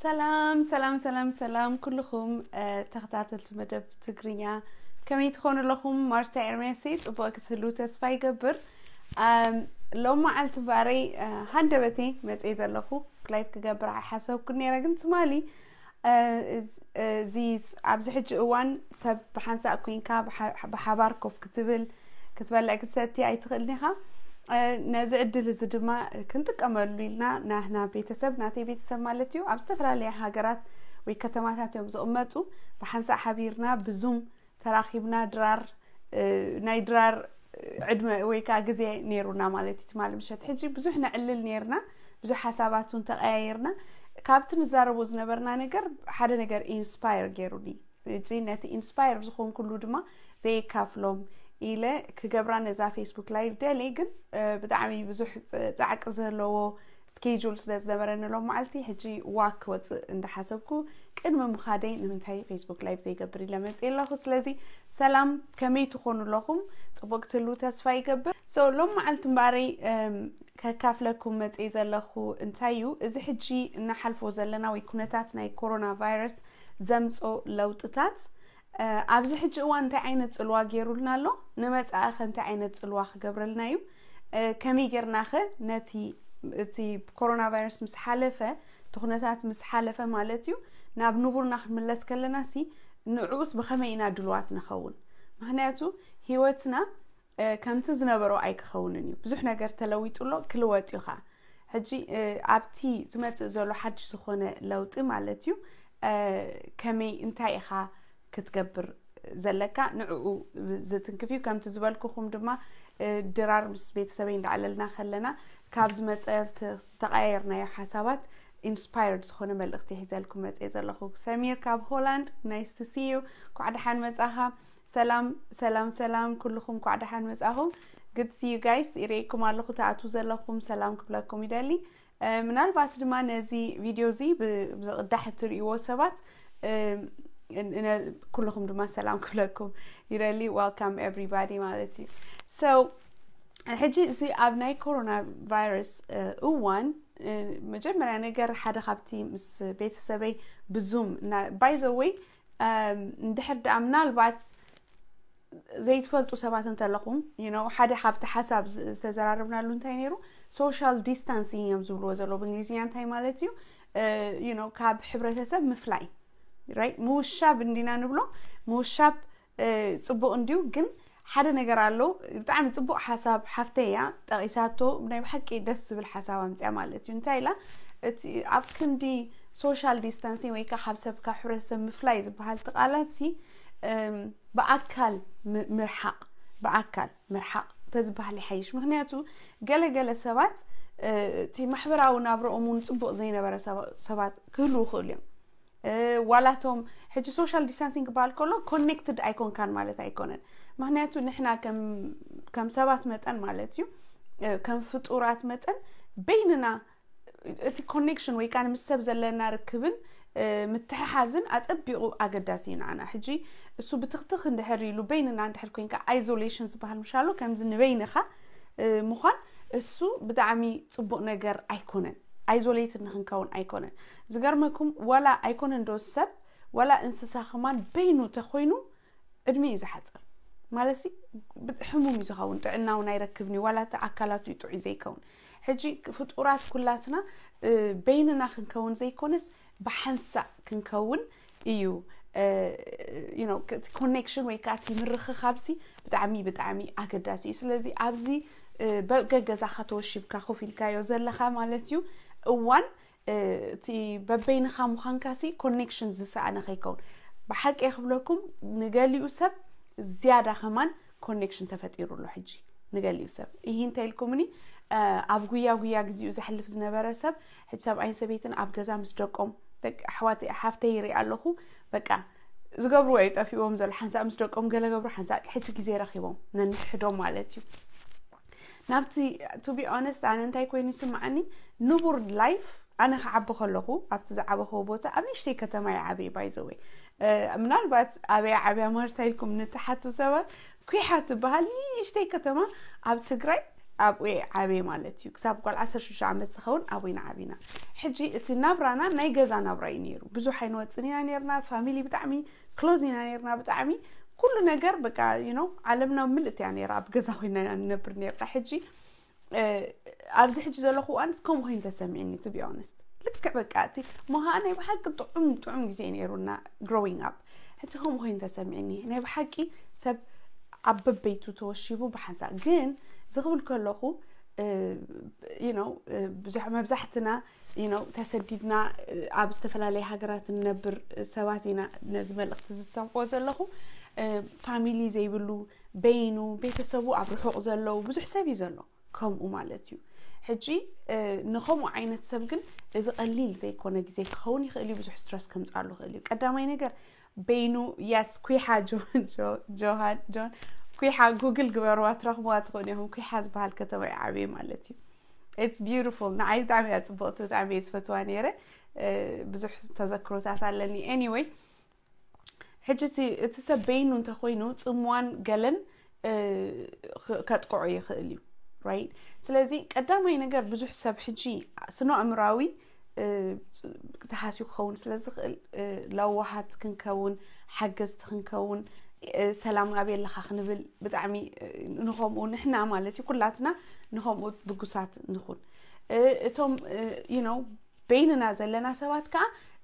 ሰላም ሰላም ሰላም ሰላም ኩልኹም ተኸታተልቲ መደብ ትግርኛ፣ ከመይ ትኾኑ ኣለኹም? ማርታ ኤርሜሲ ጽቡቕ ክትህሉ ተስፋ ይገብር። ሎም መዓልቲ ባረይ ሃንደበተይ መፅእ ዘለኹ፣ ላይፍ ክገብር ኣይሓሰብኩ ነረ፣ ግን ትማሊ እዚ ኣብዚ ሕጂ እዋን ሰብ ብሓንሳእ ኮይንካ ብሓባር ኮፍ ክትብል ክትበልዕ ክትሰቲ ኣይትኽእልን ኢኻ። ነዚ ዕድል እዚ ድማ ክንጥቀመሉ ኢልና ናህና ቤተሰብ፣ ናተይ ቤተሰብ ማለት እዩ፣ ኣብ ዝተፈላለያ ሃገራት ወይ ከተማታት እዮም ዝቕመጡ። ብሓንሳእ ሓቢርና ብዙም ተራኺብና ድራር ናይ ድራር ዕድመ ወይ ከዓ ግዜ ነይሩና ማለት እዩ። ትማሊ ምሸት ሕጂ ብዙሕ ነዕልል ነይርና፣ ብዙሕ ሓሳባት እውን ተቀያየርና። ካብቲ ንዛረቦ ዝነበርና ነገር ሓደ ነገር ኢንስፓየር ገይሩኒ። ሕጂ ነቲ ኢንስፓየር ዝኾንኩሉ ድማ ዘየካፍሎም ኢለ ክገብራ ነዛ ፌስቡክ ላይቭ ደልየ፣ ግን ብጣዕሚ ብዙሕ ፃዕቂ ዘለዎ ስኬጁል ስለ ዝነበረኒ ሎም መዓልቲ ሕጂ ዋክ ክወፅእ እንዳሓሰብኩ ቅድሚ ምኻደይ ንምንታይ ፌስቡክ ላይቭ ዘይገብር ኢለ መፅእ ኣለኹ። ስለዚ ሰላም፣ ከመይ ትኾኑ ኣለኹም? ፅቡቅ ክትህልዉ ተስፋ ይገብር። ሎም መዓልቲ እምበኣረይ ከካፍለኩም መፅእ ዘለኹ እንታይ እዩ፣ እዚ ሕጂ እናሓልፎ ዘለና ወይ ኩነታት ናይ ኮሮና ቫይረስ ዘምፆ ለውጥታት ኣብዚ ሕጂ እዋን እንታይ ዓይነት ፅልዋ ገይሩልና ኣሎ? ንመፃኢ ኸ እንታይ ዓይነት ፅልዋ ክገብረልና እዩ? ከመይ ጌርና ኸ ነቲ እቲ ኮሮና ቫይረስ ምስ ሓለፈ፣ እቲ ኩነታት ምስ ሓለፈ ማለት እዩ፣ ናብ ንቡርና ክንምለስ ከለና ሲ ንዕኡስ ብኸመይ ኢና ድልዋት ንኸውን? ምክንያቱ ህይወትና ከምቲ ዝነበሮ ኣይክኸውንን እዩ። ብዙሕ ነገር ተለዊጡ ኣሎ፣ ክልወጥ እዩ ኸዓ። ሕጂ ኣብቲ ዝመፅእ ዘሎ ሓድሽ ዝኾነ ለውጢ ማለት እዩ፣ ከመይ እንታይ ኢኻ ክትገብር ዘለካ ንዕኡ ዝትንክፍ እዩ። ከምቲ ዝበልኩኹም ድማ ድራር ምስ ቤተሰበይ እንዳዕለልና ከለና ካብ ዝመፀ ዝተቀያየርናዮ ሓሳባት ኢንስፓየርድ ዝኾነ መልእኽቲ ሒዘልኩም መፅእ ዘለኹ። ሰሚር ካብ ሆላንድ፣ ናይስ ቱ ሲ ዩ። ኳዕ ደሓን መፃኻ። ሰላም ሰላም ሰላም ኩልኹም፣ ኳዕ ደሓን መፃኹም። ግድ ሲ ዩ ጋይስ፣ ይርእየኩም ኣለኹ፣ ትኣትዉ ዘለኹም ሰላም ክብለኩም ይደሊ። ምናልባት ድማ ነዚ ቪድዮ እዚ ብዝቕዳሕ እትርእይዎ ሰባት ኩልኹም ድማ ሰላም ክብለኩም ይደሊ። Welcome everybody ማለት እዩ። So ሕጂ እዚ ኣብ ናይ ኮሮና ቫይረስ እዋን መጀመርያ ነገር ሓደ ካብቲ ምስ ቤተሰበይ ብዙም፣ by the way፣ እንድሕር ደኣ ምናልባት ዘይትፈልጡ ሰባት እንተለኹም፣ you know፣ ሓደ ካብቲ ሓሳብ ዝተዘራረብናሉ እንታይ ነይሩ፣ ሶሻል ዲስታንሲንግ እዮም ዝብልዎ ዘለዉ ብእንግሊዝኛ። እንታይ ማለት እዩ? You know፣ ካብ ሕብረተሰብ ምፍላይ፣ right? ምውሻብ እንዲና ንብሎ። ምውሻብ ፅቡቅ እንዲዩ፣ ግን ሓደ ነገር ኣሎ። ብጣዕሚ ፅቡቅ ሓሳብ ሓፍተይ እያ ጠቂሳቶ፣ ናይ ብሓቂ ደስ ዝብል ሓሳብ ኣምፅያ ማለት እዩ። እንታይ ኢላ፣ እቲ ኣብ ክንዲ ሶሻል ዲስታንሲንግ ወይ ከዓ ካብ ሰብ ካብ ሕብረተሰብ ምፍላይ ዝበሃል እቲ ቃላት ሲ ብኣካል ምርሓቅ፣ ብኣካል ምርሓቅ ተዝበሃል ይሓይሽ። ምክንያቱ ገለገለ ሰባት እቲ ማሕበራዊ ናብረኦም እውን ፅቡቅ ዘይነበረ ሰባት ክህልዉ ይኽእሉ እዮም። ዋላቶም ሕጂ ሶሻል ዲስታንሲንግ ክበሃል ከሎ ኮኔክትድ ኣይኮንካን ማለት ኣይኮነን። ምክንያቱ ንሕና ከም ሰባት መጠን ማለት እዩ፣ ከም ፍጡራት መጠን በይንና እቲ ኮኔክሽን ወይ ከዓ ምስ ሰብ ዘለና ርክብን ምትሕሓዝን ኣፀቢቑ ኣገዳሲ እዩ ንዓና። ሕጂ እሱ ብትኽትኽ እንድሕር ኢሉ በይንና እንድሕር ኮይንካ፣ ኣይዞሌሽን ዝበሃል ምሻሎ ከምዚ ንበይንኻ ምዃን፣ እሱ ብጣዕሚ ፅቡቕ ነገር ኣይኮነን። ኣይዞሌትድ ንክንከውን ኣይኮነን። ዝገርመኩም ዋላ ኣይኮነን ዶ ሰብ፣ ዋላ እንስሳ ከማን በይኑ ተኮይኑ ዕድሚኡ እዩ ዝሓፅር። ማለት ሲ ሕሙም እዩ ዝኸውን፣ ጥዕና እውን ኣይረክብን እዩ፣ ዋላ እቲ ኣካላቱ እዩ ጥዑይ ዘይከውን። ሕጂ ፍጡራት ኩላትና በይንና ክንከውን ዘይኮነስ ብሓንሳእ ክንከውን እዩ። እቲ ኮኔክሽን ወይ ከዓ እቲ ምርኽኻብሲ ብጣዕሚ ብጣዕሚ ኣገዳሲ እዩ። ስለዚ ኣብዚ በገዛኻ ተወሺብካ ኮፍ ኢልካዮ ዘለኻ ማለት እዩ እዋን እቲ በበይንኻ ምዃንካሲ ኮኔክሽን ዝሰኣነ ከይከውን። ብሓቂ ክብለኩም ንገሊኡ ሰብ ዝያዳ ከማን ኮኔክሽን ተፈጢሩ ኣሎ ሕጂ። ንገሊኡ ሰብ ይህ እንታይ ኢልኩምኒ፣ ኣብ ጉያ ጉያ ግዜኡ ዘሕልፍ ዝነበረ ሰብ ሕጂ ሰብኣይን ሰበይትን ኣብ ገዛ ምስ ደቆም፣ ደቂ ኣሕዋት ሓፍተይ ይርኢ ኣለኹ፣ በቃ ዝገብርዎ እዩ ጠፊዎም ዘሎ። ሓንሳእ ምስ ደቆም ገለ ገብሩ፣ ሓንሳእ ሕጂ ግዜ ረኺቦም ነንሕዶም ማለት እዩ። ናብቲ ቱ ቢ ኦነስት ኣነ እንታይ ኮይኑ ይስምዓኒ፣ ንቡር ላይፍ ኣነ ክዓቢ ከለኹ ኣብቲ ዝዓበኽዎ ቦታ ኣብ ንእሽተይ ከተማ ይዓበየ ባይዘወይ። ምናልባት ኣበይ ዓብያ ማርታ ኢልኩም ንትሓቱ ሰባት፣ ኩሓ ትበሃል ንእሽተይ ከተማ ኣብ ትግራይ ኣብኡ ዓብየ ማለት እዩ። ክሳብ ጓል ዓሰርተ ሽዱሽተ ዓመት ዝኸውን ኣብኡ ኢና ዓቢና። ሕጂ እቲ ናብራና ናይ ገዛ ናብራ እዩ ነይሩ። ብዙሕ ኣይንወፅን ኢና ነርና። ፋሚሊ ብጣዕሚ ክሎዝ ኢና ነርና። ብጣዕሚ ኩሉ ነገር በቃ you know ዓለምና ምልእት እያ ነራ። ኣብ ገዛ ኮይና ኢና ንነብር ነርና። ሕጂ ኣብዚ ሕጂ ዘለኹ እዋንስ ከምኡ ኮይኑ ተሰሚዕኒ to be honest። ልክዕ በቃ እቲ ሞሃ ናይ ብሓቂ ጥዑም ጥዑም ግዜ ነይሩና growing up። ሕጂ ከምኡ ኮይኑ ተሰሚዕኒ። ናይ ብሓቂ ሰብ ኣብ በበይቱ ተወሺቡ ብሓንሳእ ግን ዝኽብል ከለኹ you know ብዙሕ መብዛሕትና you know ተሰዲድና ኣብ ዝተፈላለየ ሃገራት ንነብር ሰባት ኢና። ነዚ መልእኽቲ ዝሰምዕዎ ዘለኹ ፋሚሊ ዘይብሉ በይኑ ቤተሰቡ ኣብ ርሑቕ ዘለዉ ብዙሕ ሰብ እዩ ዘሎ ከምኡ ማለት እዩ። ሕጂ ንኸምኡ ዓይነት ሰብ ግን እዚ ቀሊል ዘይኮነ ግዜ ክኸውን ይኽእል እዩ። ብዙሕ ስትረስ ከምፅኣሉ ይኽእል እዩ። ቀዳማይ ነገር በይኑ ያስ ኩሓ ጆን ኩሓ ጉግል ግበርዋ ትረኽብዋ ትኾኑ ኢኹም። ኩሓ ዝበሃል ከተማ እዩ ዓብየ ማለት እዩ። It's beautiful። ንዓይ ብጣዕሚ እያ ፅቡቕቲ። ብጣዕሚ እየ ዝፈትዋ ነይረ። ብዙሕ ተዘክሮታት ኣለኒ። Anyway ሕጂ እቲ ሰብ በይኑ እንተኮይኑ ፅምዋን ገለን ከጥቅዖ ይኽእል እዩ። Right? ስለዚ ቀዳማይ ነገር ብዙሕ ሰብ ሕጂ ስነ ኣእምራዊ ተሃስዩ ክኸውን ስለ ዝኽእል ለዋሃት ክንከውን ሓገዝቲ ክንከውን ሰላም ኣበይ ኣለኻ ክንብል ብጣዕሚ ንኸምኡ ንሕና ማለት እዩ ኩላትና ንኸምኡ ብጉሳት ንኹን። እቶም you know በይንና ዘለና ሰባት ከዓ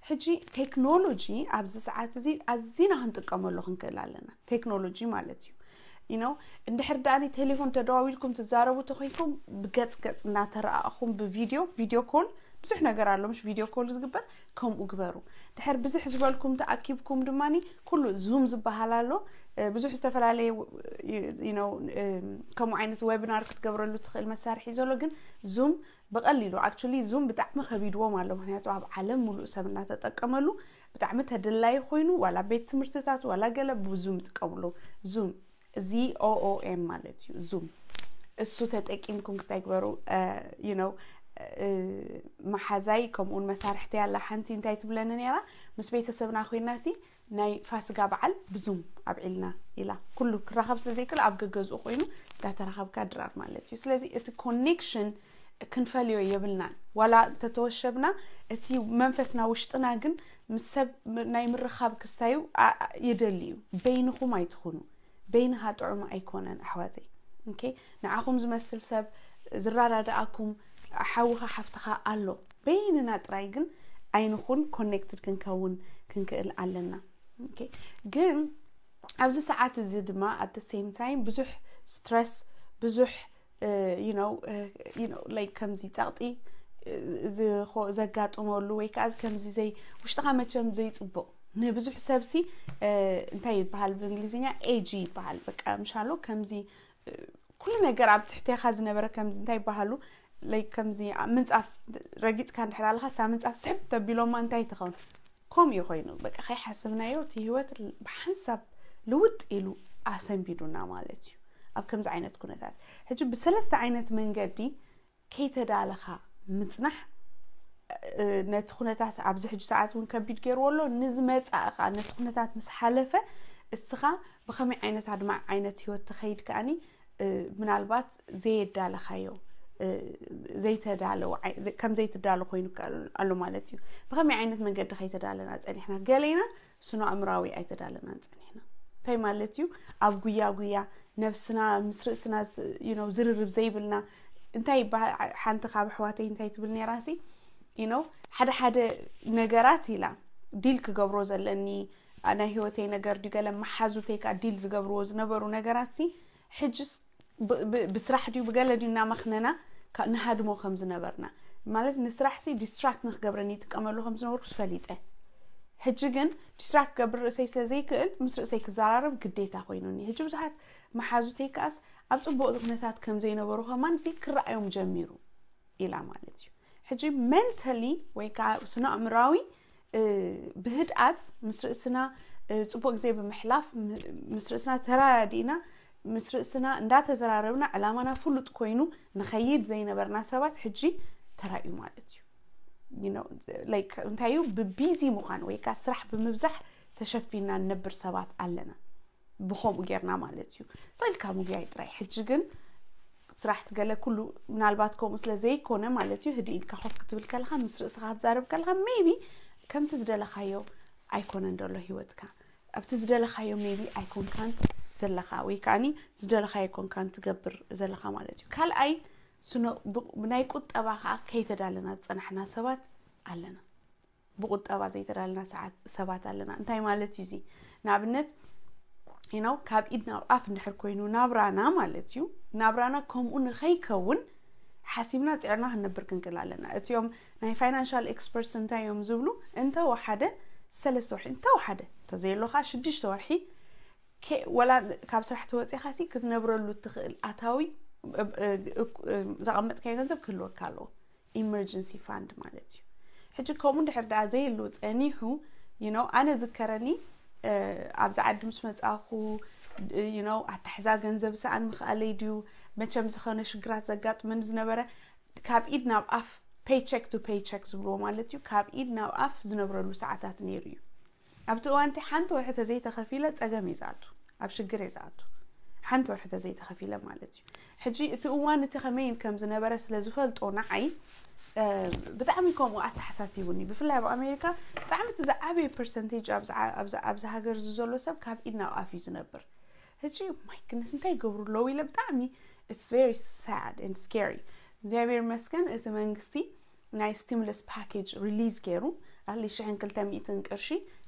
ሕጂ ቴክኖሎጂ ኣብዚ ሰዓት እዚ ኣዚና ክንጥቀመሉ ክንክእል ኣለና። ቴክኖሎጂ ማለት እዩ you know እንድሕር ደኣኒ ቴሌፎን ተደዋዊልኩም ትዛረቡ ተኮይንኩም ብገፅ ገፅ እናተረኣእኹም ብቪዲዮ ቪዲዮ ኮል ብዙሕ ነገር ኣሎ ምሽ ቪዲዮ ኮል ዝግበር ከምኡ ግበሩ። ድሕር ብዝሕ ዝበልኩም ተኣኪብኩም ድማ ኩሉ ዙም ዝበሃል ኣሎ። ብዙሕ ዝተፈላለየ ከምኡ ዓይነት ዌብናር ክትገብረሉ ትኽእል መሳርሒ ዘሎ ግን ዙም ብቐሊሉ actually ዙም ብጣዕሚ ከቢድዎም ኣሎ። ምክንያቱ ኣብ ዓለም ሙሉእ ሰብ እናተጠቀመሉ ብጣዕሚ ተደላይ ኮይኑ ዋላ ቤት ትምህርትታት ዋላ ገለ ብዙም ይጥቀምሉ። ዙም Z O O M ማለት እዩ ዙም። እሱ ተጠቂምኩም ክስታይ ግበሩ። You know መሓዛይ ከምኡውን መሳርሕቲ ያላ ሓንቲ እንታይ ትብለኒ ነራ ምስ ቤተሰብና ኮይና ሲ ናይ ፋስጋ በዓል ብዙም ኣብዒልና ኢላ ኩሉ ክራኸብ ስለ ዘይክእል ኣብ ገገዝኡ ኮይኑ እንዳተራኸብካ ድራር ማለት እዩ። ስለዚ እቲ ኮኔክሽን ክንፈልዮ የብልናን። ዋላ እንተተወሸብና እቲ መንፈስና ውሽጥና ግን ምስ ሰብ ናይ ምርኻብ ክስታዩ ይደሊ እዩ። በይንኹም ኣይትኹኑ። በይንኻ ጥዑም ኣይኮነን ኣሕዋተይ። Okay ንዓኹም ዝመስል ሰብ ዝራዳድኣኩም ሓውኻ ሓፍትኻ ኣሎ። በይንና ጥራይ ግን ኣይንኹን ኮኔክትድ ክንከውን ክንክእል ኣለና። Okay ግን ኣብዚ ሰዓት እዚ ድማ at the same time ብዙሕ ስትረስ ብዙሕ you know like ከምዚ ጸቕጢ ዘጋጥመሉ ወይ ከዓ ከምዚ ዘይ ውሽጥኻ መቸም ዘይፅቡቕ ንብዙሕ ሰብሲ እንታይ ይበሃል ብእንግሊዝኛ ኤጂ ይበሃል። በቃ ምሻሎ ከምዚ ኩሉ ነገር ኣብ ትሕቴኻ ዝነበረ ከምዚ እንታይ ይበሃሉ like ከምዚ ምንፃፍ ረጊፅካ እንድሕር ኣለካ ስታ ምንፃፍ ስሕብ ተቢሎማ እንታይ ትኸውን ከምኡ እዩ ኮይኑ በቃ ከይሓስብናዮ እቲ ህይወት ብሓንሳብ ልውጥ ኢሉ ኣሰንቢዱና ማለት እዩ። ኣብ ከምዚ ዓይነት ኩነታት ሕጂ ብሰለስተ ዓይነት መንገዲ ከይተዳለኻ ምፅናሕ ነቲ ኩነታት ኣብዚ ሕጂ ሰዓት እውን ከቢድ ገይርዎ ኣሎ። ንዝመፃእ ከዓ ነቲ ኩነታት ምስ ሓለፈ እስኻ ብኸመይ ዓይነት ኣድማዕ ዓይነት ህይወት ትኸይድ ከዓኒ ምናልባት ዘየዳለኻዮ ዘይተዳለው ከም ዘይትዳለ ኮይኑ ኣሎ ማለት እዩ። ብኸመይ ዓይነት መንገዲ ከይተዳለና ፀኒሕና ገሌና ስነ ኣእምራዊ ኣይተዳለናን ፀኒሕና እንታይ ማለት እዩ? ኣብ ጉያ ጉያ ነብስና ምስ ርእስና ዝርርብ ዘይብልና እንታይ ሓንቲ ካብ ኣሕዋተይ እንታይ ትብል ነራሲ you know ሓደ ሓደ ነገራት ኢላ ዲል ክገብሮ ዘለኒ ናይ ህይወተይ ነገር ድዩ ገለ መሓዙተይ ከዓ ዲል ዝገብርዎ ዝነበሩ ነገራት ሲ ሕጅስ ብስራሕ ድዩ ብገለ ድዩ እናመኽነና ንሃድሞ ከም ዝነበርና ማለት ንስራሕ ሲ ዲስትራክት ንክገብረኒ ይጥቀመሉ ከም ዝነበርኩ ዝፈሊጠ ሕጂ ግን ዲስትራክት ክገብር ርእሰይ ስለ ዘይክእል ምስ ርእሰይ ክዘራረብ ግዴታ ኮይኑኒ። ሕጂ ብዙሓት መሓዙተይ ከኣስ ኣብ ፅቡቅ ዝኩነታት ከም ዘይነበሩ ከማን ሲ ክረኣዮም ጀሚሩ ኢላ ማለት እዩ። ሕጂ መንተሊ ወይ ከዓ ስነ ኣእምራዊ ብህድኣት ምስ ርእስና ፅቡቅ ግዜ ብምሕላፍ ምስ ርእስና ተራዲእና ምስ ርእስና እንዳተዘራረብና ዕላማና ፍሉጥ ኮይኑ ንኸይድ ዘይነበርና ሰባት ሕጂ ተራእዩ ማለት እዩ። እንታይ እዩ ብቢዚ ምዃን ወይ ከዓ ስራሕ ብምብዛሕ ተሸፊና ንነብር ሰባት ኣለና። ብኸምኡ ጌርና ማለት እዩ። ስኢልካ ምጉያይ ጥራይ ሕጂ ግን ስራሕ ትገለ ኩሉ ምናልባት ከምኡ ስለ ዘይኮነ ማለት እዩ። ህድእ ኢልካ ኮፍ ክትብል ከለኻ፣ ምስ ርእስኻ ክትዛረብ ከለኻ፣ maybe ከምቲ ዝደለኻዮ ኣይኮነን ዘሎ ህይወትካ። ኣብቲ ዝደለኻዮ maybe ኣይኮንካን ዘለኻ፣ ወይ ከዓኒ ዝደለኻዮ ኣይኮንካን ትገብር ዘለኻ ማለት እዩ። ካልኣይ፣ ስነ-፣ ብ-፣ ብናይ ቁጠባ ከዓ ከይተዳለና ዝጸናሕና ሰባት ኣለና። ብቁጠባ ዘይተዳለና ሰዓት ሰባት ኣለና። እንታይ ማለት እዩ እዚ? ንኣብነት፣ you know፣ ካብ ኢድ ናብ ኣፍ እንድሕር ኮይኑ ናብራና ማለት እዩ። ናብራና ከምኡ ንኸይከውን ሓሲብና ጽዕርና ክንነብር ክንክእል ኣለና። እቲኦም ናይ ፋይናንሻል ኤክስፐርትስ እንታይ እዮም ዝብሉ? እንተወሓደ ሰለስተ ወርሒ፣ እንተወሓደ፣ እንተዘየሎኻ ሽዱሽተ ወርሒ፣ ከ-፣ ወላ ካብ ስራሕ ተወፂኻ ሲ ክትነብረሉ እትኽእል ኣታዊ፣ እ-፣ እ-፣ እ-፣ ዘቐመጥካዮ ገንዘብ ክህልወካ ኣለዎ። ኢመርጀንሲ ፋንድ ማለት እዩ። ሕጂ ከምኡ እንድሕር ደኣ ዘይህሉ ጸኒሑ፣ you know፣ ኣነ ዝከረኒ፣ እ፣ ኣብዚ ዓዲ ምስ መጻኹ፣ you know፣ ኣታሕዛ ገንዘብ ሰኣን ምኽኣለይ ድዩ? መቸም ዝኾነ ሽግራት ዘጋጥመኒ ዝነበረ፣ ካብ ኢድ ናብ ኣፍ፣ ፔይቸክ ቱ ፔይቸክ ዝብልዎ ማለት እዩ። ካብ ኢድ ናብ ኣፍ ዝነብረሉ ሰዓታት ነይሩ እዩ። ኣብቲ እዋን እቲ ሓንቲ ወርሒ ተዘይተኸፊለ ጸገም እየ ዝኣቱ፣ ኣብ ሽግር እየ ዝኣቱ። ሓንቲ ወርሒ ተዘይተኸፊለ ማለት እዩ። ሕጂ እቲ እዋን እቲ ከመይን ከም ዝነበረ ስለ ዝፈልጦ ንዓይ፣ እ፣ ብጣዕሚ ከምኡ ኣተሓሳሲቡኒ። ብፍላይ ኣብ ኣሜሪካ ብጣዕሚ እቲ ዝዓበየ ፐርሰንቴጅ ኣብዚ ዓ-፣ ኣብዚ፣ ኣብዚ ሃገር እዚ ዘሎ ሰብ ካብ ኢድ ናብ ኣፍ እዩ ዝነብር። ሕጂ ማይ ግነስ እንታይ ይገብሩ ኣለዉ ኢለ ብጣዕሚ፣ it's very sad and scary። እግዚኣብሔር ይመስገን እቲ መንግስቲ ናይ ስቲሙለስ ፓኬጅ ሪሊዝ ገይሩ፣ ኣትሊስት ሽሕን ክልተ ሚእትን ቅርሺ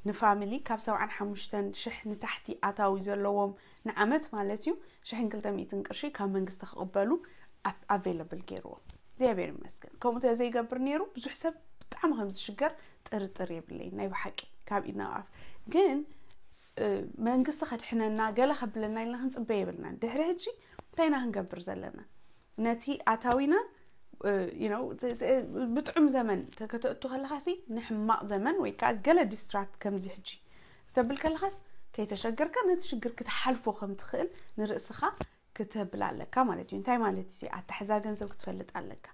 ንፋሚሊ፣ ካብ ሰብዓን ሓሙሽተን ሽሕ ንታሕቲ ኣታዊ ዘለዎም ንዓመት ማለት እዩ፣ ሽሕን ክልተ ሚእትን ቅርሺ ካብ መንግስቲ ክቕበሉ ኣፕ-፣ ኣቬለብል ገይርዎ። እግዚኣብሔር ይመስገን። ከምኡ ተዘይገብር ነይሩ ብዙሕ ሰብ ብጣዕሚ ከም ዝሽገር ጥርጥር የብለይን። ናይ ብሓቂ ካብ ኢድ ናብ ኣፍ። ግን፣ እ፣ መንግስቲ ከድሕነና፣ ገለ ከብለና ኢልና ክንጽበ የብልናን። ድሕሪ ሕጂ እንታይ ኢና ክንገብር ዘለና? ነቲ ኣታዊና፣ እ፣ you know፣ ት-፣ ት-፣ ብጥዑም ዘመን ተ-፣ ከተእቱ ከለኻሲ ንሕማቕ ዘመን ወይ ከዓ ገለ ዲስትራክት ከምዚ ሕጂ ክተብል ከለኻስ ከይተሸገርካ ነቲ ሽግር ክትሓልፎ ከም ትኽእል ንርእስኻ ክተብል ኣለካ ማለት እዩ። እንታይ ማለት እዩ? ኣታሕዛ ገንዘብ ክትፈልጥ ኣለካ።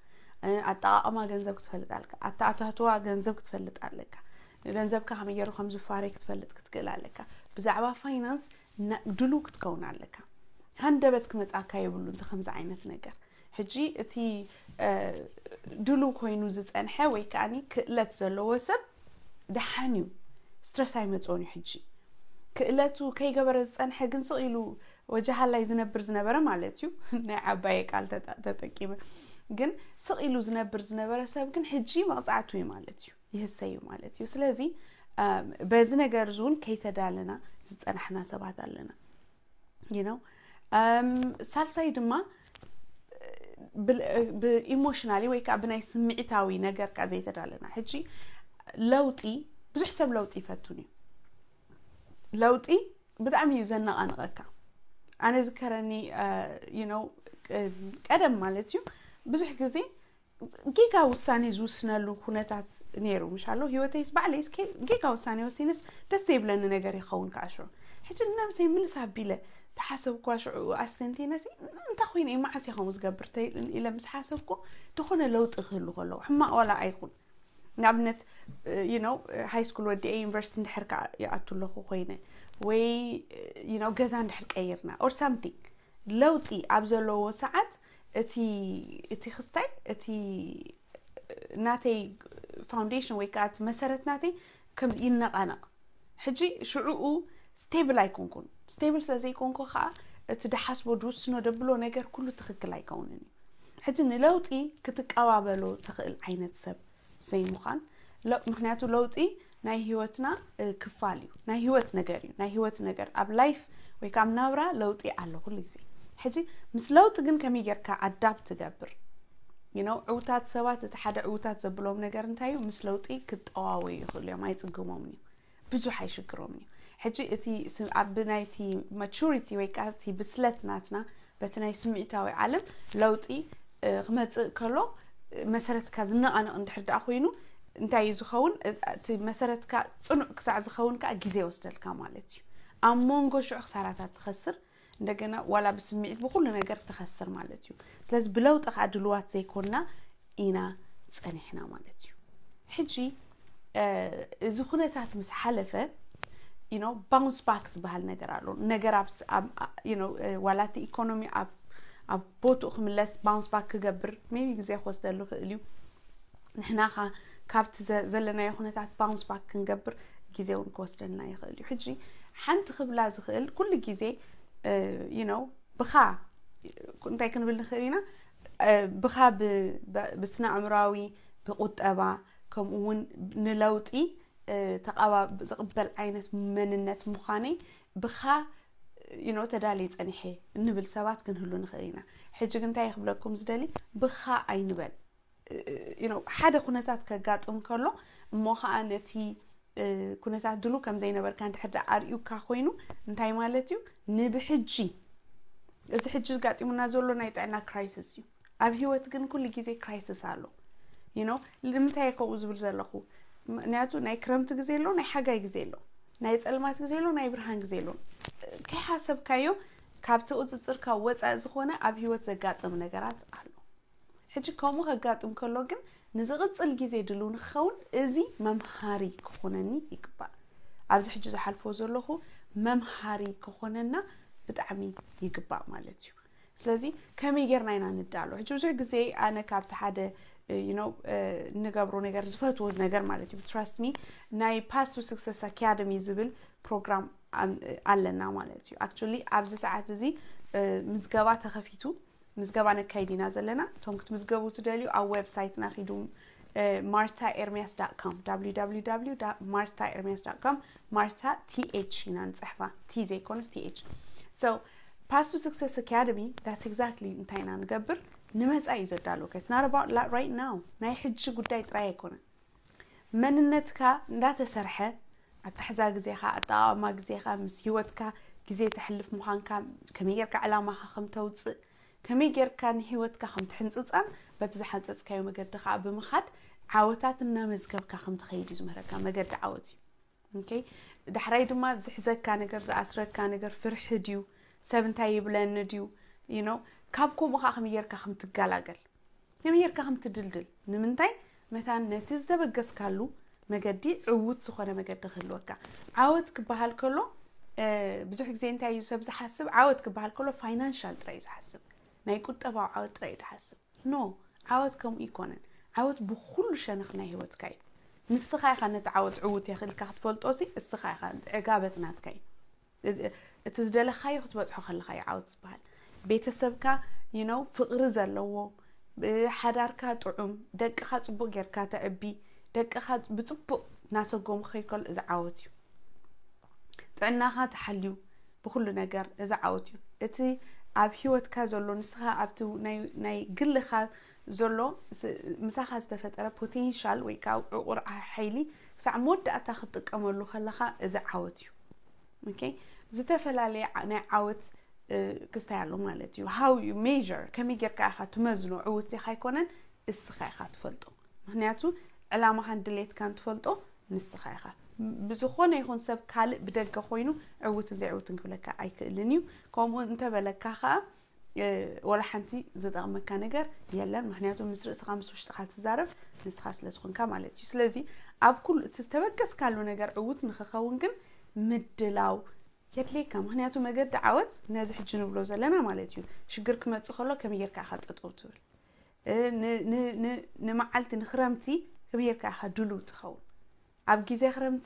እ፣ ኣጠቓቕማ ገንዘብ ክትፈልጥ ኣለካ። ኣተኣታትዋ ገንዘብ ክትፈልጥ ኣለካ። ገንዘብካ ከመይ ገይሩ ከም ዝፋረይ ክትፈልጥ ክትክእል ኣለካ። ብዛዕባ ፋይናንስ ና-፣ ድሉው ክትከውን ኣለካ። ሃንደበት ክመጻካ የብሉ እንተ ከምዚ ዓይነት ነገር። ሕጂ እቲ፣ እ፣ ድሉው ኮይኑ ዝጸንሐ ወይ ከኣኒ ክእለት ዘለዎ ሰብ ደሓን እዩ። ስትረስ ኣይመጽኦን እዩ። ሕጂ ክእለቱ ከይገበረ ዝጸንሐ ግን ስቕ ኢሉ ወጀሃላይ ዝነብር ዝነበረ ማለት እዩ። ናይ ዓባየ ቃል ተጠ-፣ ተጠቂመ። ግን ስቕ ኢሉ ዝነብር ዝነበረ ሰብ ግን ሕጂ መቕጻዕቱ እዩ ማለት እዩ። ይህሰ እዩ ማለት እዩ። ስለዚ፣ እም፣ በዚ ነገር እዚ እውን ከይተዳለና ዝጸናሕና ሰባት ኣለና። You know? እም፣ ሳልሳይ ድማ ብል-፣ ብኢሞሽናሊ ወይ ከዓ ብናይ ስምዒታዊ ነገር ከዓ ዘይተዳለና። ሕጂ ለውጢ፣ ብዙሕ ሰብ ለውጢ ይፈቱን እዩ። ለውጢ ብጣዕሚ እዩ ዘነቓንቐካ። ኣነ ዝከረኒ፣ እ፣ you know፣ እ፣ ቀደም ማለት እዩ ብዙሕ ግዜ ጌጋ ውሳኔ ዝውስነሉ ኩነታት ነይሩ፣ ምሽ ኣሎ? ህይወተይስ ባዕለይስ ከ-፣ ጌጋ ውሳኔ ወሲነስ ደስ ዘይብለኒ ነገር ይኸውን ከዓ ሽዑ። ሕጂ ንነብሰይ ምልስ ኣቢለ ተሓሰብኳ ሽዑ ኣስተንቲነሲ፣ እንታይ ኮይነ እየ፣ መዓስ እየ ከምኡ ዝገብር ተ-፣ ኢለ ምስ ሓሰብኩ፣ ዝኾነ ለውጢ ክህሉ ከለዎ፣ ሕማቕ ዋላ ኣይኹን። ንኣብነት፣ you know፣ ሃይ ስኩል ወዲኤ ዩኒቨርሲቲ እንድሕር ከዓ ይኣቱ ኣለኹ ኮይነ፣ ወይ፣ you know፣ ገዛ እንድሕር ቀይርና፣ or something፣ ለውጢ ኣብ ዘለዎ ሰዓት፣ እቲ፣ እቲ ክስታይ፣ እቲ ናተይ ፋውንዴሽን ወይ ከዓ እቲ መሰረት ናተይ ከም ይነቓነቕ። ሕጂ ሽዑኡ ስቴብል ኣይኮንኩን። ስቴብል ስለ ዘይኮንኩ ከዓ እቲ ድሓስቦ፣ ድውስኖ፣ ደብሎ ነገር ኩሉ ትኽክል ኣይከውንን እዩ። ሕጂ ንለውጢ ክትቀባበሎ ትኽእል ዓይነት ሰብ ዘይምዃን። ለ-፣ ምኽንያቱ ለውጢ ናይ ህይወትና፣ እ፣ ክፋል እዩ። ናይ ህይወት ነገር እዩ። ናይ ህይወት ነገር፣ ኣብ ላይፍ ወይ ከዓ ኣብ ናብራ ለውጢ ኣሎ ኩሉ ግዜ። ሕጂ ምስ ለውጢ ግን ከመይ ጌርካ ኣዳፕት ትገብር? You know፣ ዕውታት ሰባት፣ እቲ ሓደ ዕውታት ዘብሎም ነገር እንታይ እዩ? ምስ ለውጢ ክጠዋወዩ ይኽእሉ እዮም፣ ኣይጽግሞምን እዩ። ብዙሕ ኣይሽግሮምን እዩ። ሕጂ እቲ ስ-፣ ኣብ ናይቲ ማቹሪቲ ወይ ከዓ እቲ ብስለት ናትና በቲ ናይ ስምዒታዊ ዓለም ለውጢ፣ እ፣ ክመጽእ ከሎ፣ እ፣ መሰረትካ ዝነቓነቕ እንድሕር ደኣ ኮይኑ እንታይ እዩ ዝኸውን? እ፣ እቲ መሰረትካ ጽኑዕ ክሳዕ ዝኸውን ከዓ ግዜ ይወስደልካ ማለት እዩ። ኣብ መንጎ ሽዑ ክሳራታት ትኸስር፣ እንደገና ዋላ ብስምዒት ብኹሉ ነገር ትኸስር ማለት እዩ። ስለዚ ብለውጢ ከዓ ድልዋት ዘይኮንና ኢና ጸኒሕና ማለት እዩ። ሕጂ፣ እ፣ እዚ ኩነታት ምስ ሓለፈ፣ you know፣ ባውንስ ባክ ዝበሃል ነገር ኣሎ። ነገር ኣብ ስ-፣ ኣብ፣ ኣ-፣ you know፣ እ፣ ዋላ እቲ ኢኮኖሚ ኣብ፣ ኣብ ቦትኡ ክምለስ bounce back ክገብር maybe ግዜ ክወስደሉ ይኽእል እዩ። ንሕና ኸ ካብቲ ዘ- ዘለናዮ ኩነታት bounce back ክንገብር ግዜ እውን ክወስደልና ይኽእል እዩ። ሕጂ ሓንቲ ክብላ ዝኽእል ኩሉ ግዜ you know ብኻ እንታይ ክንብል ንኽእል ኢና? ብኻ ብስነ ኣእምራዊ፣ ብቁጠባ፣ ከምኡ እውን ንለውጢ ተቓባ ዝቕበል ዓይነት መንነት ምዃነይ ብኻ you know ተዳልየ ጸኒሐ እንብል ሰባት ክንህሉ ንኽእል ኢና። ሕጂ ግን እንታይ ክብለኩም ዝደሊ፣ ብኻ ኣይንበል። ሓደ ኩነታት ከጋጥም ከሎ እሞ ከዓ ነቲ ኩነታት ድሉ ከም ዘይነበርካ እንድሕር ደኣ ኣርእዩካ ኮይኑ እንታይ ማለት እዩ? ንብሕጂ እዚ ሕጂ ዝጋጢሙና ዘሎ ናይ ጥዕና crisis እዩ። ኣብ ህይወት ግን ኩሉ ግዜ crisis ኣሎ። You know ንምንታይ ከምኡ ዝብል ዘለኹ? ምክንያቱ ናይ ክረምቲ ግዜ ኣሎ፣ ናይ ሓጋይ ግዜ ኣሎ፣ ናይ ጸልማት ግዜ ኣሎ፣ ናይ ብርሃን ግዜ ኣሎ። ከይሓሰብካዮ ካብቲ ቁፅፅርካ ወፃኢ ዝኾነ ኣብ ህይወት ዘጋጥም ነገራት ኣሎ። ሕጂ ከምኡ ከጋጥም ከሎ ግን ንዝቕፅል ግዜ ድልው ንክኸውን እዚ መምሃሪ ክኾነኒ ይግባእ። ኣብዚ ሕጂ ዝሓልፎ ዘለኹ መምሃሪ ክኾነና ብጣዕሚ ይግባእ ማለት እዩ። ስለዚ ከመይ ጌርና ኢና ንዳሎ? ሕጂ ብዙሕ ግዜ ኣነ ካብቲ ሓደ you know ንገብሮ ነገር ዝፈትዎ ነገር ማለት እዩ trust me ናይ Path to Success Academy ዝብል ፕሮግራም ኣለና ማለት እዩ። Actually ኣብዚ ሰዓት እዚ ምዝገባ ተኸፊቱ ምዝገባ ነካይድ ኢና ዘለና። እቶም ክትምዝገቡ ትደልዩ ኣብ ዌብሳይትና ኪዱ marthaermias.com www marthaermias.com ማርታ th ኢና ንፅሕፋ፣ ቲ ዘይኮነስ th። So Path to Success Academy that's exactly እንታይ ኢና ንገብር? ንመፃ እዩ ዘዳለወካ። It's not about right now ናይ ሕጂ ጉዳይ ጥራይ ኣይኮነን። መንነትካ እንዳተሰርሐ ኣታሕዛ ግዜኻ፣ ኣጠቓቕማ ግዜኻ፣ ምስ ህይወትካ ግዜ ተሕልፍ ምዃንካ፣ ከመይ ጌርካ ዕላማኻ ከም ተውፅእ፣ ከመይ ጌርካ ንህይወትካ ከም ትሕንፅፃን በቲ ዝሓንፀፅካዮ መገዲ ከዓ ብምኻድ ዓወታት እናመዝገብካ ከም ትኸይድ እዩ ዝምህረካ። መገዲ ዓወት እዩ። Okay? ዳሕራይ ድማ ዝሕዘካ ነገር፣ ዝኣስረካ ነገር ፍርሒ ድዩ፣ ሰብ እንታይ ይብለኒ ድዩ፣ you know ካብ ከምኡ ከዓ ከመይ ጌርካ ከም ትገላገል ከመይ ጌርካ ከም ትድልድል። ንምንታይ? መታን ነቲ ዝተበገስካሉ መገዲ ዕዉት ዝኾነ መገዲ ክህልወካ። ዓወት ክበሃል ከሎ ብዙሕ ግዜ እንታይ እዩ ሰብ ዝሓስብ? ዓወት ክበሃል ከሎ ፋይናንሻል ጥራይ እዩ ዝሓስብ፣ ናይ ቁጠባዊ ዓወት ጥራይ እዩ ዝሓስብ። ኖ፣ ዓወት ከምኡ ይኮነን። ዓወት ብኩሉ ሸነኽ ናይ ህይወትካ እዩ። ንስኻ ኢኻ ነቲ ዓወት ዕዉት የኽልካ ክትፈልጦ ሲ እስኻ ኢኻ፣ ዕጋበት ናትካ እዩ። እቲ ዝደለኻዮ ክትበፅሖ ከለኻ እዩ ዓወት ዝበሃል። ቤተሰብካ you know ፍቕሪ ዘለዎ፣ ሓዳርካ ጥዑም፣ ደቅኻ ፅቡቅ ጌርካ ተዕቢ፣ ደቅኻ ብፅቡቅ እናሰጎሙ ክኸይድ ከሎ እዚ ዓወት እዩ። ጥዕናኻ ተሓልዩ ብኩሉ ነገር እዚ ዓወት እዩ። እቲ ኣብ ህይወትካ ዘሎ ንስኻ ኣብቲ ናይ ግልኻ ዘሎ ምሳኻ ዝተፈጠረ ፖቴንሻል ወይ ከዓ ዕቑር ሓይሊ ክሳዕ መወዳእታ ክትጥቀመሉ ከለኻ እዚ ዓወት እዩ። Okay? ዝተፈላለየ ናይ ዓወት ክስታይ ኣሎ ማለት እዩ። How you measure፣ ከመይ ጌርካ ኢኻ ትመዝኖ? ዕውት ዲኻ ኣይኮነን፣ እስኻ ኢኻ ትፈልጦ። ምክንያቱ ዕላማኻን ድሌትካን ትፈልጦ ንስኻ ኢኻ። ብዝኾነ ይኹን ሰብ ካልእ ብደገ ኮይኑ ዕውትን ዘይዕውትን ክብለካ ኣይክእልን እዩ። ከምኡ እንተበለካ ከዓ ወላ ሓንቲ ዝጠቕመካ ነገር የለን። ምክንያቱ ምስ ርእስኻ ምስ ውሽጥኻ ትዛረብ ንስኻ ስለ ዝኾንካ ማለት እዩ። ስለዚ ኣብ ኩሉ እቲ ዝተበገስካሉ ነገር ዕውት ንክኸውን ግን ምድላው የድልየካ። ምክንያቱ መገዲ ዓወት ነዚ ሕጂ ንብሎ ዘለና ማለት እዩ። ሽግር ክመፅእ ከሎ ከመይ ጌርካ ኢኻ ጠጠው ትብል? ንመዓልቲ ንክረምቲ ከመይ ጌርካ ኢኻ ድሉው ትኸውን? ኣብ ግዜ ክረምቲ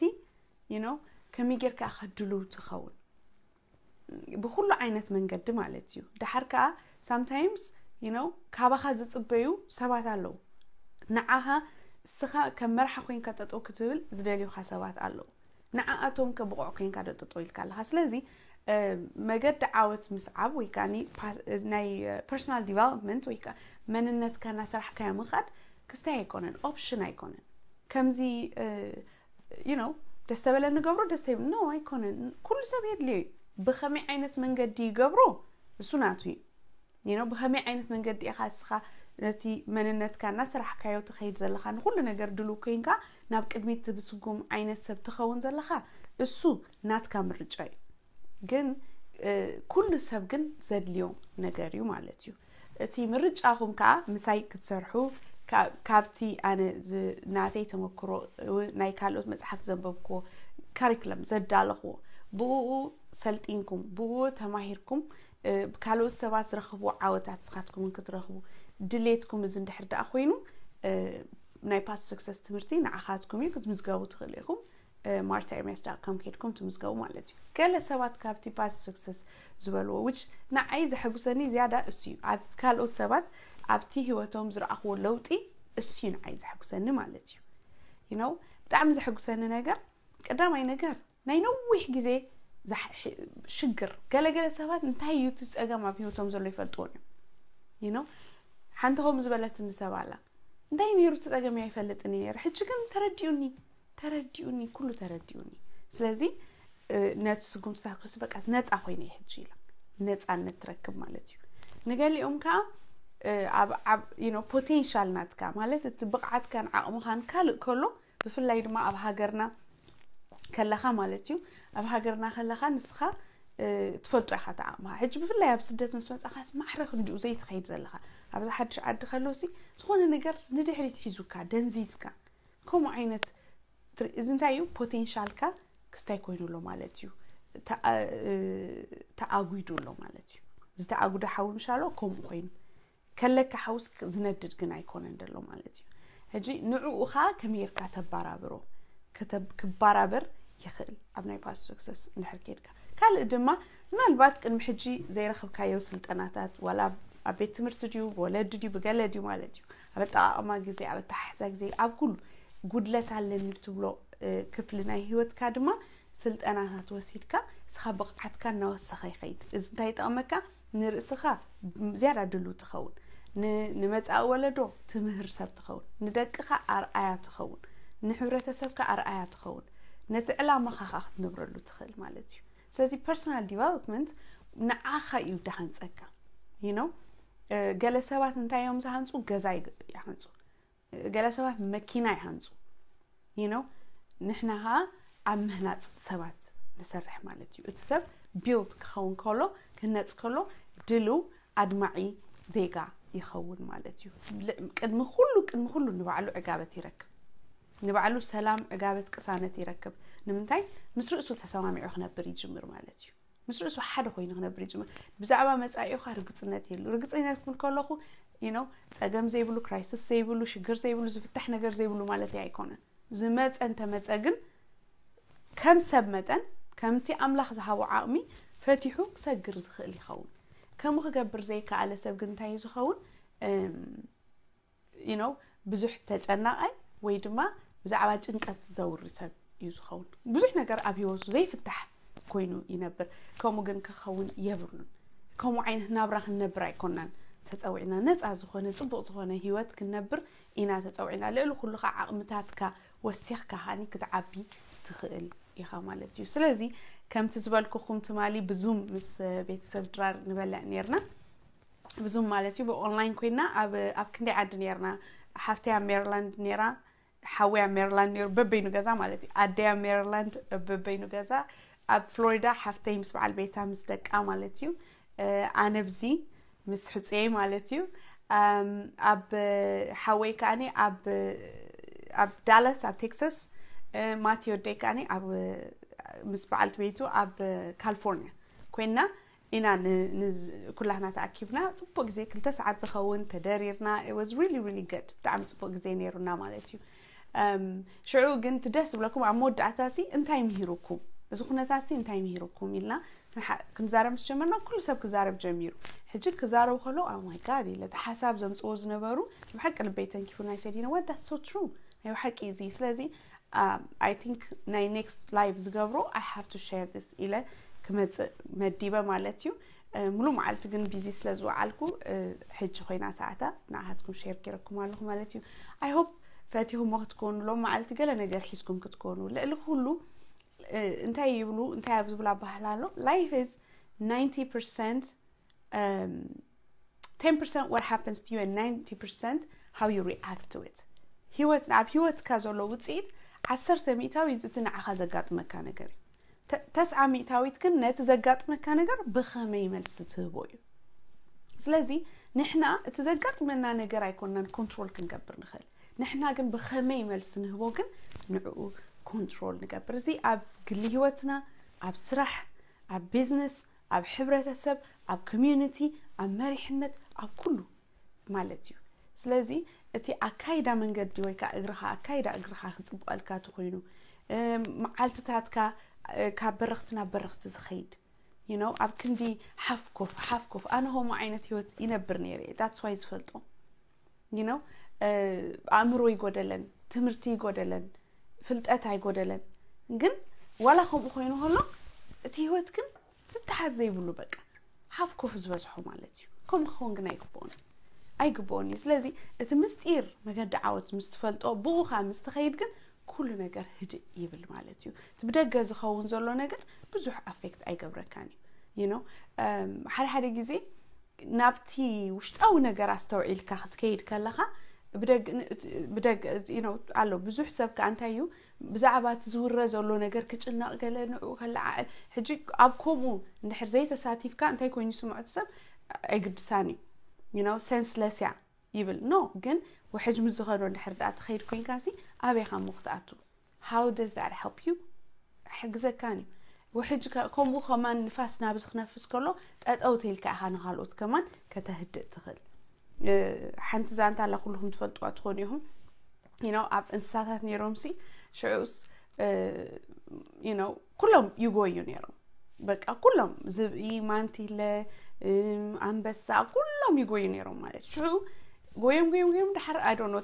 you know ከመይ ጌርካ ኢኻ ድሉው ትኸውን? ብኩሉ ዓይነት መንገዲ ማለት እዩ። ደሓር ከዓ sometimes you know ካባኻ ዝፅበዩ ሰባት ኣለዉ። ንዓኻ እስኻ ከም መርሓ ኮይንካ ጠጠው ክትብል ዝደልዩኻ ሰባት ኣለዉ። ንዓኣቶም ከ ብቑዕ ኮይንካ ዶ ጠጠው ኢልካ ኣለኻ? ስለዚ መገዲ ዓወት ምስዓብ ወይ ከዓ ናይ personal development ወይ ከዓ መንነትካ እናሰራሕካዮ ምኻድ ክስታይ ኣይኮነን፣ ኦፕሽን ኣይኮነን። ከምዚ you know ደስ ተበለ ንገብሮ፣ ደስ ተይብል no ኣይኮነን። ኩሉ ሰብ የድልዮ እዩ። ብኸመይ ዓይነት መንገዲ ይገብሮ እሱ ናቱ እዩ። You know ብኸመይ ዓይነት መንገዲ ኢኻ እስኻ ነቲ መንነትካ እናሰራሕካዮ ትኸይድ ዘለኻ፣ ንኩሉ ነገር ድሉው ኮይንካ ናብ ቅድሚት ብስጉም ዓይነት ሰብ ትኸውን ዘለኻ፣ እሱ ናትካ ምርጫ እዩ። ግን ኩሉ ሰብ ግን ዘድልዮ ነገር እዩ ማለት እዩ። እቲ ምርጫኹም ከዓ ምሳይ ክትሰርሑ ካብቲ ኣነ ናተይ ተመክሮ፣ ናይ ካልኦት መፅሓፍቲ ዘንበብክዎ፣ ካሪክለም ዘዳለኽዎ፣ ብኡ ሰልጢንኩም ብኡ ተማሂርኩም ካልኦት ሰባት ዝረኽቡ ዓወታት ንስኻትኩም እውን ክትረኽቡ ድሌትኩም እዚ እንድሕር ደኣ ኮይኑ ናይ past success ትምህርቲ ንዓኻትኩም እዩ ክትምዝገቡ ትኽእሉ ኢኹም። ማርታ ኤርሚያስ ዳት ኮም ከይድኩም ትምዝገቡ ማለት እዩ። ገለ ሰባት ካብቲ past success ዝበልዎ which ንዓይ ዘሐጉሰኒ ዝያዳ እሱ እዩ። ኣብ ካልኦት ሰባት ኣብቲ ህይወቶም ዝረኣኽዎ ለውጢ እሱ እዩ ንዓይ ዘሐጉሰኒ ማለት እዩ። you know ብጣዕሚ ዘሐጉሰኒ ነገር ቀዳማይ ነገር ናይ ነዊሕ ግዜ ሽግር ገለገለ ሰባት እንታይ እዩ እቲ ፀገም ኣብ ህይወቶም ዘሎ ይፈልጥዎን እዮም። you know ሓንቲ ከምኡ ዝበለትኒ ሰብ ኣላ። እንታይ ነይሩ እቲ ፀገም ኣይፈልጥን ነይረ፣ ሕጂ ግን ተረዲኡኒ፣ ተረዲኡኒ፣ ኩሉ ተረዲኡኒ። ስለዚ ነቲ ስጉምትታት ክወስድ በቃ ነፃ ኮይነ ሕጂ ኢላ ነፃነት ትረክብ ማለት እዩ። ንገሊኦም ከዓ ኣብ ፖቴንሻል ናትካ ማለት እቲ ብቕዓትካን ዓቕምኻን ካልእ ከሎ ብፍላይ ድማ ኣብ ሃገርና ከለኻ ማለት እዩ። ኣብ ሃገርና ከለኻ ንስኻ ትፈልጦ ኢኻ ተዓቕምኻ። ሕጂ ብፍላይ ኣብ ስደት ምስ መጻኻስ ማዕረ ክንዲኡ ዘይትኸይድ ዘለኻ ኣብዚ ሓድሽ ዓዲ ከለውሲ ዝኾነ ነገር ንድሕሪት ሒዙካ ደንዚዝካ ከምኡ ዓይነት እዚ እንታይ እዩ ፖቴንሻልካ ክስታይ ኮይኑ ኣሎ ማለት እዩ። ተኣጉዱ ኣሎ ማለት እዩ። ዝተኣጉደ ሓዊ ምሻሎ ከምኡ ኮይኑ ከለካ ሓውስ ዝነድድ ግን ኣይኮነን ዘሎ ማለት እዩ። ሕጂ ንዕኡ ኸዓ ከመይ ጌርካ ተባራብሮ ክባራበር ይኽእል ኣብ ናይ past success እንድሕር ኬድካ። ካልእ ድማ ምናልባት ቅድሚ ሕጂ ዘይረኽብካዮ ስልጠናታት ዋላ ኣብ ቤት ትምህርቲ ድዩ ብወለዲ ድዩ ብገለ ድዩ ማለት እዩ ኣብ ኣጠቃቅማ ግዜ ኣብ ኣተሓሕዛ ግዜ ኣብ ኩሉ ጉድለት ኣለኒ ብትብሎ ክፍሊ ናይ ህይወትካ ድማ ስልጠናታት ወሲድካ እስኻ ብቕዓትካ እናወሰኸ ይኸይድ። እዚ እንታይ ይጠቕመካ? ንርእስኻ ዝያዳ ድሉ ትኸውን፣ ንመጻኢ ወለዶ ትምህር ሰብ ትኸውን፣ ንደቅኻ ኣርኣያ ትኸውን፣ ንሕብረተሰብካ ኣርኣያ ትኸውን፣ ነቲ ዕላማኻ ኸዓ ክትነብረሉ ትኽእል ማለት እዩ። ስለዚ personal development ንዓኻ እዩ ድሃንጸካ። you know ገለ ሰባት እንታይ እዮም ዝሃንጹ? ገዛ ይሃንጹ። ገለ ሰባት መኪና ይሃንጹ። you know ንሕና ኸዓ ኣብ ምህናፅ ሰባት ንሰርሕ ማለት እዩ። እቲ ሰብ build ክኸውን ከሎ ክህነፅ ከሎ ድልው ኣድማዒ ዜጋ ይኸውን ማለት እዩ። ቅድሚ ኩሉ ቅድሚ ኩሉ ንባዕሉ ዕጋበት ይረክብ። ንባዕሉ ሰላም፣ ዕጋበት፣ ቅሳነት ይረክብ። ንምንታይ? ምስ ርእሱ ተሰማሚዑ ክነብር ይጅምር ማለት እዩ። ምስ ርእሱ ሓደ ኮይኑ ክነብር ይጅምር። ብዛዕባ መጻኢኡ ኸዓ ርግጽነት የሉ። ርግጽነት ክብል ከለኹ you know ጸገም ዘይብሉ፣ crisis ዘይብሉ፣ ሽግር ዘይብሉ፣ ዝፍታሕ ነገር ዘይብሉ ማለት ኣይኮነን። ዝመጸ እንተመጸ ግን ከም ሰብ መጠን ከምቲ ኣምላኽ ዝሃቦ ዓቕሚ ፈቲሑ ክሰግር ዝኽእል ይኸውን። ከምኡ ክገብር ዘይከኣለ ሰብ ግን እንታይ እዩ ዝኸውን? you know ብዙሕ ተጨናቓይ ወይ ድማ ብዛዕባ ጭንቀት ዘውሪ ሰብ እዩ ዝኸውን። ብዙሕ ነገር ኣብ ህይወቱ ዘይፍታሕ ኮይኑ ይነብር። ከምኡ ግን ክኸውን የብሉን። ከምኡ ዓይነት ናብራ ክንነብር ኣይኮናን ተፀዊዕና። ነፃ ዝኾነ ፅቡቕ ዝኾነ ህይወት ክንነብር ኢና ተፀዊዕና። ልዕሊ ኩሉ ከዓ ዓቕምታትካ ወሲኽካ ሃኒ ክትዓቢ ትኽእል ኢኻ ማለት እዩ። ስለዚ ከምቲ ዝበልኩኹም ትማሊ ብዙም ምስ ቤተሰብ ድራር ንበልዕ ነርና። ብዙም ማለት እዩ ብኦንላይን ኮይና ኣብ ኣብ ክንደይ ዓዲ ነርና። ሓፍተይ ኣብ ሜሪላንድ ነራ፣ ሓወይ ኣብ ሜሪላንድ ነሩ በበይኑ ገዛ ማለት እዩ። ኣደይ ኣብ ሜሪላንድ በበይኑ ገዛ፣ ኣብ ፍሎሪዳ ሓፍተይ ምስ በዓል ቤታ ምስ ደቃ ማለት እዩ። ኣነ ብዚ ምስ ሕፅየይ ማለት እዩ። ኣብ ሓወይ ከዓኒ ኣብ ኣብ ዳላስ ኣብ ቴክሳስ፣ ማቲ ወደይ ከዓኒ ኣብ ምስ በዓልቲ ቤቱ ኣብ ካሊፎርኒያ ኮይና ኢና ኩላህና ተኣኪብና ፅቡቅ ግዜ ክልተ ሰዓት ዝኸውን ተደሪርና። It was really really good። ብጣዕሚ ፅቡቅ ግዜ ነይሩና ማለት እዩ። ሽዑ ግን ትደስ ዝብለኩም ኣብ መወዳእታ ሲ እንታይ ምሂሩኩም፣ እዚ ኩነታት ሲ እንታይ ምሂሩኩም ኢልና ክንዛረብ ምስ ጀመርና ኩሉ ሰብ ክዛረብ ጀሚሩ። ሕጂ ክዛረቡ ከለዉ oh my God ኢለ እቲ ሓሳብ ዘምፅዎ ዝነበሩ ብሓቂ ልበይ ተንኪፉ ናይ ሰዲነ what that's so true ናይ ብሓቂ እዚ ስለዚ I think ናይ next live ዝገብሮ I have to share this ኢለ ክመፅእ መዲበ ማለት እዩ። ሙሉ መዓልቲ ግን ቢዚ ስለ ዝወዓልኩ ሕጂ ኮይና ሰዓታ ንዓኻትኩም ሼር ገይረኩም ኣለኹ ማለት እዩ። I hope ፈቲኹሞ ክትኮኑ ሎም መዓልቲ ገለ ነገር ሒዝኩም ክትኮኑ ልዕሊ ኩሉ እንታይ ይብሉ እንታይ ኣብ ዝብል ኣባህላ ኣሎ life is ninety percent ten percent what happens to you and ninety percent how you react to it። ህይወት ኣብ ህይወትካ ዘሎ ውፅኢት ዓሰርተ ሚእታዊት እቲ ንዓኻ ዘጋጥመካ ነገር እዩ። ተስዓ ሚእታዊት ግን ነቲ ዘጋጥመካ ነገር ብኸመይ መልሲ ትህቦ እዩ። ስለዚ ንሕና እቲ ዘጋጥመና ነገር ኣይኮንናን ኮንትሮል ክንገብር ንኽእል። ንሕና ግን ብኸመይ መልሲ ንህቦ ግን ንዕኡ ኮንትሮል ንገብር። እዚ ኣብ ግሊ ህይወትና፣ ኣብ ስራሕ፣ ኣብ ቢዝነስ፣ ኣብ ሕብረተሰብ፣ ኣብ ኮሚዩኒቲ፣ ኣብ መሪሕነት፣ ኣብ ኩሉ ማለት እዩ። ስለዚ እቲ ኣካይዳ መንገዲ ወይ ከዓ እግርኻ ኣካይዳ እግርኻ ክፅብቐልካ ተኮይኑ፣ መዓልትታትካ ካብ በረኽቲ ናብ በረኽቲ ዝኸይድ፣ you know፣ ኣብ ክንዲ ሓፍኮፍ ሓፍኮፍ፣ ኣነ ከምኡ ዓይነት ህይወት ይነብር ነይረ። That's why ዝፈልጦ፣ you know፣ ኣእምሮ ይጎደለን፣ ትምህርቲ ይጎደለን፣ ፍልጠት ኣይጎደለን። ግን ዋላ ከምኡ ኮይኑ ከሎ እቲ ህይወት ግን ዝተሓዝ ዘይብሉ፣ በቃ ሓፍኮፍ ዝበዝሖ ማለት እዩ። ከምኡ ክኸውን ግን ኣይግብኦን ኣይግብኦን እዩ። ስለዚ እቲ ምስጢር መገዲ ዓወት ምስ ትፈልጦ፣ ብኡ ከዓ ምስ ትኸይድ ግን ኩሉ ነገር ህድእ ይብል ማለት እዩ። እቲ ብደገ ዝኸውን ዘሎ ነገር ብዙሕ ኣፌክት ኣይገብረካን እዩ። You know፣ ሓደ ሓደ ግዜ ናብቲ ውሽጣዊ ነገር ኣስተውዒልካ ክትከይድ ከለኻ፣ ብደግ ብደግ you know ኣሎ ብዙሕ ሰብ ከኣ እንታይ እዩ ብዛዕባ እቲ ዝውረ ዘሎ ነገር ክጭነቕ፣ ገለ ንዕኡ ከለዓዕል። ሕጂ ኣብ ከምኡ እንድሕር ዘይተሳቲፍካ እንታይ ኮይኑ ይስምዖ እቲ ሰብ? ኣይግድሳን እዩ፣ you know፣ ሴንስለስ እያ ይብል። ኖ፣ ግን ውሕጅ ምስ ዝኸዶ እንድሕር ደኣ ትኸይድ ኮይንካ ሲ ኣበይ ኢኻ እሞ ክትኣቱ? How does that help you? ኣይሕግዘካን እዩ። ውሕጅ ከምኡ ከማን ንፋስ ናብዚ ክነፍስ ከሎ ጠጠው ተይልካ ኢኻ ንካልኦት ከማን ከተህድእ ትኽእል። ሓንቲ ዛንታ ኣላ ኩልኹም ትፈልጥዋ ትኾኑ ኢኹም። You know፣ ኣብ እንስሳታት ነይሮም ሲ ሽዑስ you know ኩሎም ይጎዩ ነይሮም። በቃ ኩሎም፣ ዝብኢ፣ ማንቲለ፣ ኣንበሳ፣ ኩሎም ይጎዩ ነይሮም ማለት ሽዑ ጎዮም ጎዮም ጎዮም ድሓር ኣዶኖ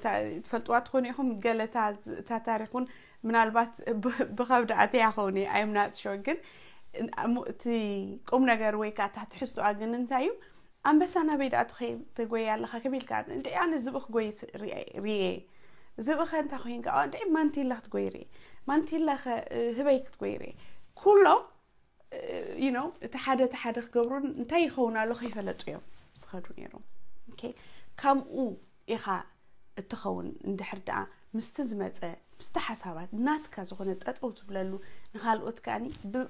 ትፈልጥዋ ትኾኑ ኢኹም። ገለታ እታ ታሪኹን ምናልባት ብኸብዲ ኣተያ ኸውን እየ፣ I'm not sure። ግን እቲ ቁም ነገር ወይ ከዓ እታ ትሕዝቶኣ ግን እንታይ እዩ? ኣንበሳ ናበይ ደኣ ትጎይ ኣለኻ ከቢልካ፣ እንዲ ኣነ ዝብኢ ክጎይ ርየ። ዝብኢ ኸ እንታይ ኮይንካ? እንዲ ማንቲላ ክትጎይ ርየ። ማንቲላ ኸ ህበይ ክትጎይ ርየ። ኩሎም you know እቲ ሓደ እቲ ሓደ ክገብሩ እንታይ ይኸውን ኣሎ ከይፈለጡ እዮም ዝኸዱ ነይሮም። Okay፣ ከምኡ ኢኻ እትኸውን እንድሕር ደኣ ምስቲ ዝመፀ ምስቲ ሓሳባት ናትካ ዝኾነ ጠጠው ትብለሉ፣ ንኻልኦት ከኣኒ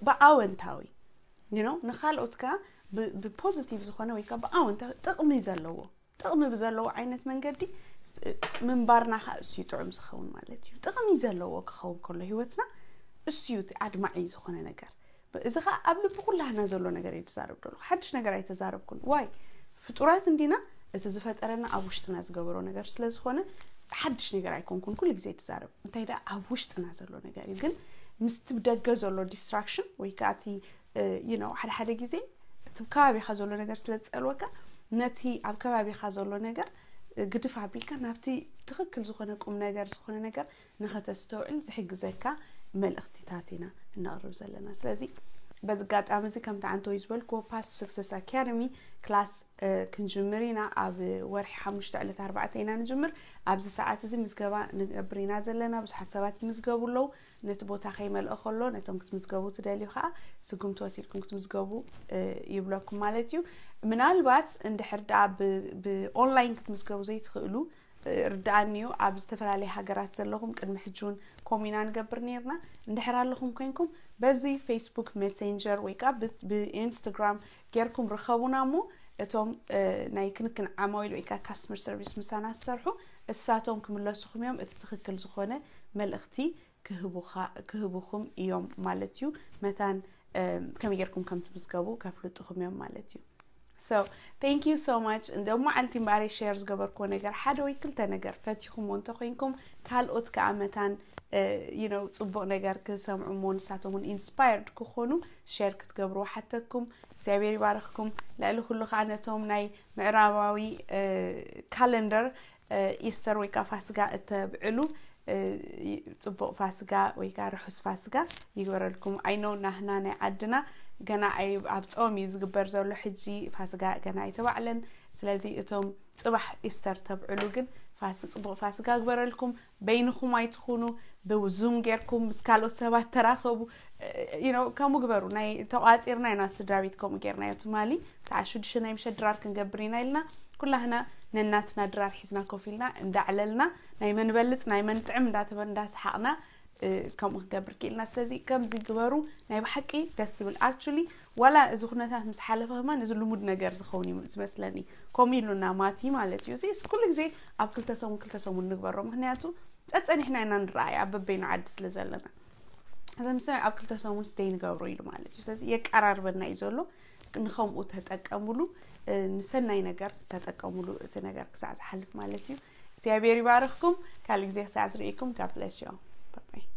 ብኣወንታዊ you know ንኻልኦት ከኣ ብፖዚቲቭ ዝኾነ ወይ ከዓ ብኣወንታዊ ጥቕሚ ዘለዎ ጥቕሚ ብዘለዎ ዓይነት መንገዲ ምንባርና ከዓ እሱ እዩ ጥዑም ዝኸውን ማለት እዩ። ጥቕሚ ዘለዎ ክኸውን ከሎ ህይወትና እሱ እዩ እቲ ኣድማዒ ዝኾነ ነገር። እዚ ከዓ ኣብ ልቢ ኩላህና ዘሎ ነገር እየ ዝዛረብ ዘለኹ። ሓድሽ ነገር ኣይተዛረብኩን። ዋይ፣ ፍጡራት እንዲና፣ እቲ ዝፈጠረና ኣብ ውሽጥና ዝገበሮ ነገር ስለ ዝኾነ ሓድሽ ነገር ኣይኮንኩን ኩሉ ግዜ ትዛረብ። እንታይ ደኣ ኣብ ውሽጥና ዘሎ ነገር እዩ። ግን ምስቲ ብደገ ዘሎ ዲስትራክሽን ወይ ከዓ እቲ you know ሓደ ሓደ ግዜ እቲ ከባቢኻ ዘሎ ነገር ስለ ዝፀልወካ ነቲ ኣብ ከባቢኻ ዘሎ ነገር ግድፍ ኣቢልካ ናብቲ ትኽክል ዝኾነ ቁም ነገር ዝኾነ ነገር ንኸተስተውዕል ዝሕግዘካ መልእኽቲታት ኢና እነቕርብ ዘለና። ስለዚ በዚ ኣጋጣሚ እዚ ከምቲ ዓንተወይ ዝበልክዎ Path to Success Academy ክላስ ክንጅምር ኢና። ኣብ ወርሒ ሓሙሽተ ዕለት ኣርባዕተ ኢና ንጅምር። ኣብዚ ሰዓት እዚ ምዝገባ ንገብር ኢና ዘለና። ብዙሓት ሰባት ይምዝገቡ ኣለዉ። ነቲ ቦታ ከይመልኦ ከሎ ነቶም ክትምዝገቡ ትደልዩ ከዓ ስጉምቲ ወሲድኩም ክትምዝገቡ ይብለኩም ማለት እዩ። ምናልባት እንድሕር ደኣ ብኦንላይን ክትምዝገቡ ዘይትኽእሉ ርድኣኒ እዩ። ኣብ ዝተፈላለየ ሃገራት ዘለኹም ቅድሚ ሕጂ እውን ከምኡ ኢና ንገብር ነይርና። እንድሕር ኣለኹም ኮይንኩም በዚ ፌስቡክ ሜሴንጀር ወይ ከዓ ብኢንስትግራም ጌርኩም ርኸቡና እሞ እቶም ናይ ክንክን ዓማዊል ወይ ከዓ ካስተመር ሰርቪስ ምሳና ዝሰርሑ እሳቶም ክምለሱኹም እዮም። እቲ ትኽክል ዝኾነ መልእኽቲ ክህቡኹም እዮም ማለት እዩ። መታን ከመይ ጌርኩም ከም ትምዝገቡ ከፍልጡኹም እዮም ማለት እዩ። So thank you so much። እንደ መዓልቲ እምበኣር ሸር ዝገበርክዎ ነገር ሓደ ወይ ክልተ ነገር ፈቲኹሞ እንተኮይንኩም ካልኦት ከዓ መታን you know ፅቡቕ ነገር ክሰምዑ እሞ ንሳቶም እውን ኢንስፓየርድ ክኾኑ ሸር ክትገብርዎ ሓተኩም። እግዚኣብሔር ይባርኽኩም። ልዕሊ ኩሉ ከዓ ነቶም ናይ ምዕራባዊ ካለንደር ኢስተር ወይ ከዓ ፋስጋ እተብዕሉ ፅቡቕ ፋስጋ ወይ ከዓ ርሑስ ፋስጋ ይግበረልኩም። I know ናህና ናይ ዓድና ገና ኣብ ፆም እዩ ዝግበር ዘሎ ሕጂ ፋስጋ ገና ኣይተባዕለን። ስለዚ እቶም ፅባሕ ኢስተር ተብዕሉ ግን ፋስ ፅቡቕ ፋስጋ ግበረልኩም። በይንኹም ኣይትኹኑ። ብዙም ጌርኩም ምስ ካልኦት ሰባት ተራኸቡ። You know ከምኡ ግበሩ። ናይ ተቋፂርና ኢና ስድራ ቤት ከምኡ ጌርናዮ ትማሊ። ሰዓት ሽዱሽተ ናይ ምሸት ድራር ክንገብር ኢና ኢልና ኩላህና ነናትና ድራር ሒዝና ኮፍ ኢልና እንዳዕለልና ናይ መን በልፅ ናይ መን ጥዕም እንዳተበ እንዳሰሓቕና ከምኡ ክንገብር ክኢልና። ስለዚ ከምዚ ግበሩ። ናይ ብሓቂ ደስ ዝብል ኣክቹሊ ዋላ እዚ ኩነታት ምስ ሓለፈ ከማን እዚ ልሙድ ነገር ዝኸውን እዩ ዝመስለኒ። ከምኡ ኢሉና ማቲ ማለት እዩ። እዚ ኩሉ ግዜ ኣብ ክልተ ሰሙን ክልተ ሰሙን ንግበሮ ምክንያቱ ጸጸኒሕና ኢና ንረኣይ ኣብ በበይኑ ዓዲ ስለ ዘለና። እዚ ምስ ኣብ ክልተ ሰሙን ስተይ ንገብሮ ኢሉ ማለት እዩ። ስለዚ የቀራርበና እዩ ዘሎ። ንኸምኡ ተጠቀሙሉ። ንሰናይ ነገር ተጠቀሙሉ፣ እዚ ነገር ክሳዕ ዝሓልፍ ማለት እዩ። እግዚኣብሔር ይባርኽኩም። ካልእ ግዜ ክሳዕ ዝርእየኩም፣ God bless you all. Bye bye.